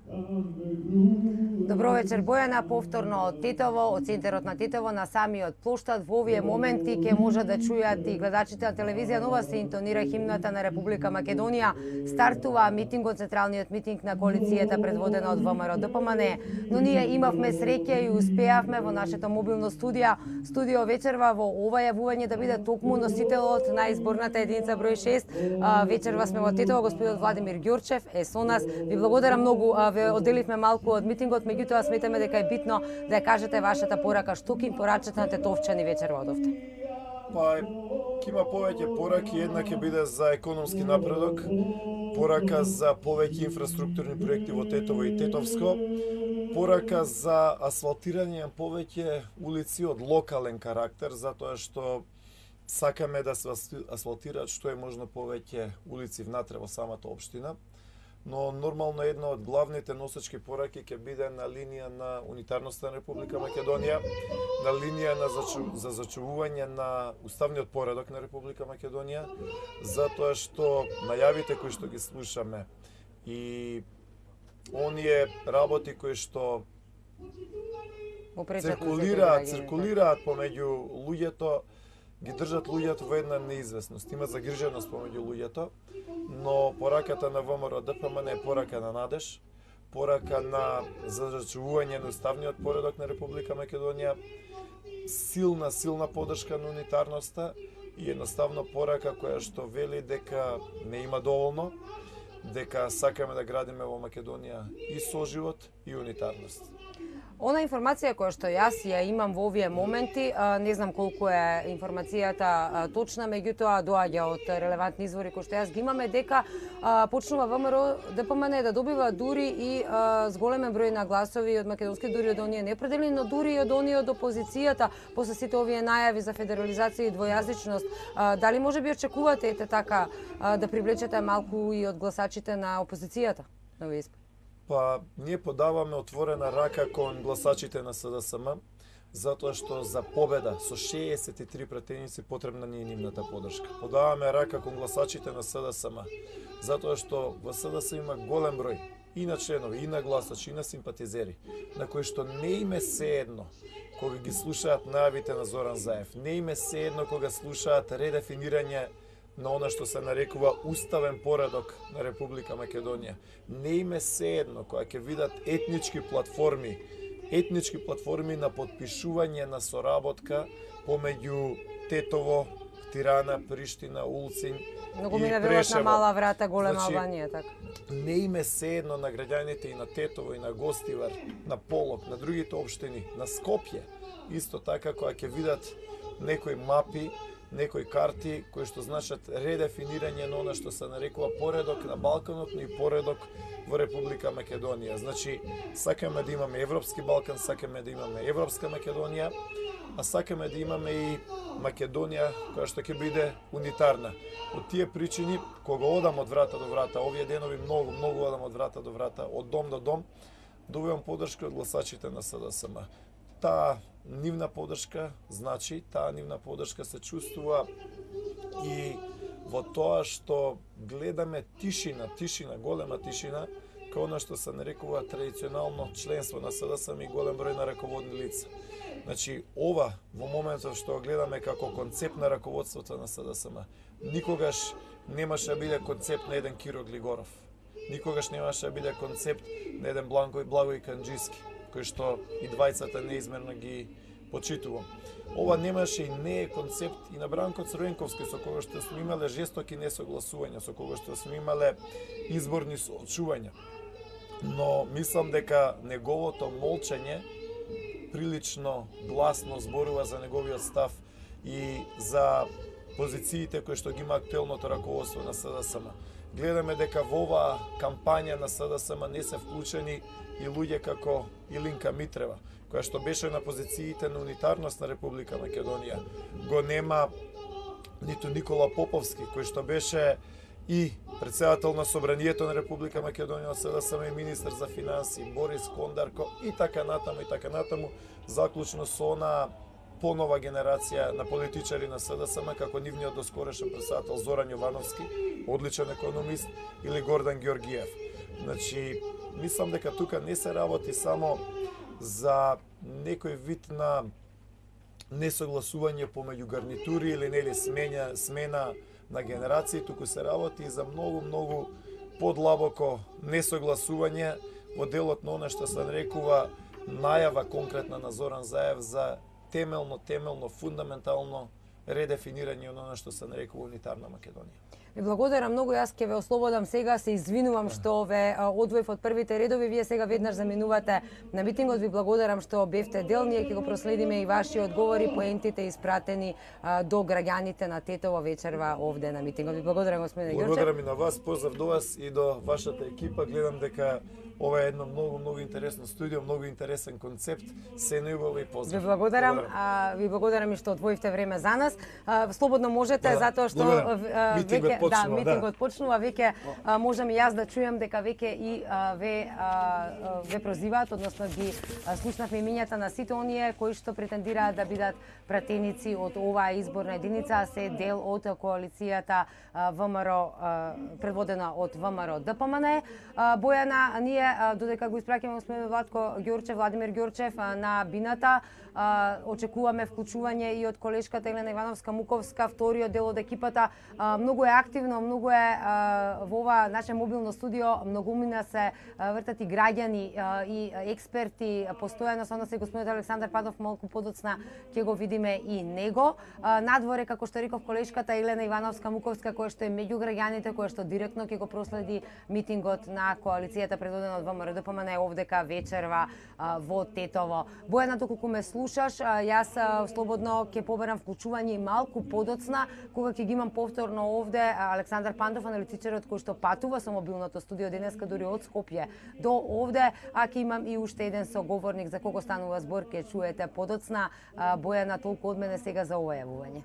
Добро вечер, Бојана, повторно од Титово, од центарот на Титово на самиот плоштад. Во овие моменти ќе можат да чујат и гледачите на телевизија Нова се интонира химната на Република Македонија. Стартува митингот, централниот митинг на коалицијата предводена од ВМРО ДПМН, но ние имавме среќа и успеавме во нашето мобилно студио вечерва во ова јавување да биде токму носителот на изборната единица број 6. Вечерва сме во Титово, господинот Владимир Ѓурчев е со нас. Ви благодарам многу, ве одделивме малку од митингот, меѓутоа сметаме дека е битно да ја кажете вашата порака. Што ќе им порачате на тетовчани вечерва одовте? Па, ќе има повеќе пораки, една ќе биде за економски напредок, порака за повеќе инфраструктурни проекти во Тетово и Тетовско, порака за асфалтирање на повеќе улици од локален карактер, затоа што сакаме да се асфалтираат што е можно повеќе улици внатре во самата општина. Но нормално една од главните носечки пораки ќе биде на линија на унитарноста на Република Македонија, на линија за зачувување на уставниот поредок на Република Македонија, затоа што најавите кои што ги слушаме и оние работи кои што циркулираат помеѓу луѓето, ги држат луѓето во една неизвестност. Има загриженост помеѓу луѓето, но пораката на ВМРО ДПМН е порака на надеж, порака на зачувување на уставниот поредок на Република Македонија, силна поддршка на унитарноста и едноставно порака која што вели дека не има доволно, дека сакаме да градиме во Македонија и соживот и унитарност. Она информација која што јас ја имам во овие моменти, не знам колку е информацијата точна, меѓутоа доаѓа од релевантни извори кои што јас ги имаме, дека почнува ВМРО ДПМН да добива дури и зголемен број на гласови од македонски, дури од оние неопределени, но дури и од оние од опозицијата, после сите овие најави за федерализација и двојазичност. Дали може би очекувате така да привлечете малку и од гласачите на опозицијата на овие избори? Па, ние подаваме отворена рака кон гласачите на СДСМ, затоа што за победа со 63 пратеници потребна ни е нивната поддршка. Подаваме рака кон гласачите на СДСМ, затоа што во СДСМ има голем број и на членови, и на гласачи, и на симпатизери, на кои што не им е сеедно кога ги слушаат најавите на Зоран Заев, не им е сеедно кога слушаат редефинирање на она што се нарекува уставен поредок на Република Македонија. Не им е сеедно кога ќе видат етнички платформи на потпишување на соработка помеѓу Тетово, Тирана, Приштина, Улцин Многу и ми Прешево. На мала врата, голема Албанија, така. Не им е сеедно на граѓаните и на Тетово, и на Гостивар, на Полок, на другите општини, на Скопје, исто така кога ќе видат некои мапи, некои карти кои што значат редефинирање на она што се нарекува поредок на Балканот, но и поредок во Република Македонија. Значи, сакаме да имаме Европски Балкан, сакаме да имаме Европска Македонија, а сакаме да имаме и Македонија која што ќе биде унитарна. Од тие причини, кога одам од врата до врата, овие денови многу одам од врата до врата, од дом до дом, добивам поддршка од гласачите на СДСМ. Таа нивна поддршка, значи, таа нивна поддршка се чувствува и во тоа што гледаме тишина, голема тишина, као она што се нарекува традиционално членство на СДСМ и голем број на раководни лица. Значи, ова во моментот што гледаме како концепт на раководството на СДСМ, никогаш немаше да биде концепт на еден Киро Глигоров. Никогаш немаше да биде концепт на еден Благој Канџиски, кој што и двајцата неизмерно ги почитувам. Ова немаше и не е концепт и на Бранко Црвенковски, со кога што сме имале жестоки несогласувања, со кога што сме имале изборни соочувања. Но мислам дека неговото молчење прилично гласно зборува за неговиот став и за позициите кои што ги има актуелното раководство на СДСМ. Гледаме дека во оваа кампања на СДСМ не се вклучени и луѓе како Илинка Митрева, која што беше на позициите на унитарност на Република Македонија. Го нема ниту Никола Поповски, кој што беше и председател на Собранието на Република Македонија од СДСМ и министер за финансии, Борис Кондарко и така натаму, заклучно со она понова генерација на политичари на СДСМ, како нивниот доскорешен председател Зоран Јовановски, одличен економист, или Гордан Ѓоргиев. Значи, мислам дека тука не се работи само за некој вид на несогласување помеѓу гарнитури или нели смена на генерации, туку се работи за многу подлабоко несогласување во делот на она што се нарекува најава конкретна на Зоран Заев за темелно, фундаментално редефинирање на она што се нарекува унитарна Македонија. Ви благодарам многу, јас ќе ве ослободам сега, се извинувам што ве одвоив од првите редови, вие сега веднаш заминувате на митингот, ви благодарам што бевте дел, ние ќе го проследиме и ваши одговори, поентите испратени до граѓаните на Тетово вечерва овде на митингот. Ви благодарам, господине Ѓорчев. Благодарам и на вас, поздрав до вас и до вашата екипа, гледам дека ова е едно многу интересно студио, многу интересен концепт, се најубаво и поздрав. Ви благодарам, ви благодарам и што одвоивте време за нас. Слободно можете, затоа што митингот почнува, веќе можам и јас да чујам дека веќе и ве прозиваат, односно ги слушнавме имињата на сите оние кои што претендираат да бидат пратеници од оваа изборна единица, се дел од коалицијата ВМРО, предводена од ВМРО ДПМН. Бојана, ние додека го испраќаме господин Владимир Ѓорчев на бината, очекуваме вклучување и од колешката Елена Ивановска-Муковска, вториот дел од екипата. Многу е активно, многу е во ова наше мобилно студио, многумина се вртат и граѓани и експерти, постојано со нас е господинот Александар Панов, малку подоцна ќе го видиме и него. Надворе, како што реков, колешката Елена Ивановска-Муковска, која што е меѓу граѓаните, која што директно ќе го проследи митингот на коалицијата предводена од ВМРО ДПМН овдека вечерва во Тетово. Бојана, доколку ме слушаш, јас слободно ќе побарам вклучување и малку подоцна, кога ќе ги имам повторно овде Александар Пандов, аналитичарот кој што патува со мобилното студио денеска дури од Скопје до овде, а ќе имам и уште еден соговорник за кого станува збор, ќе чуете подоцна. Бојана, толку од мене сега за ова јавување.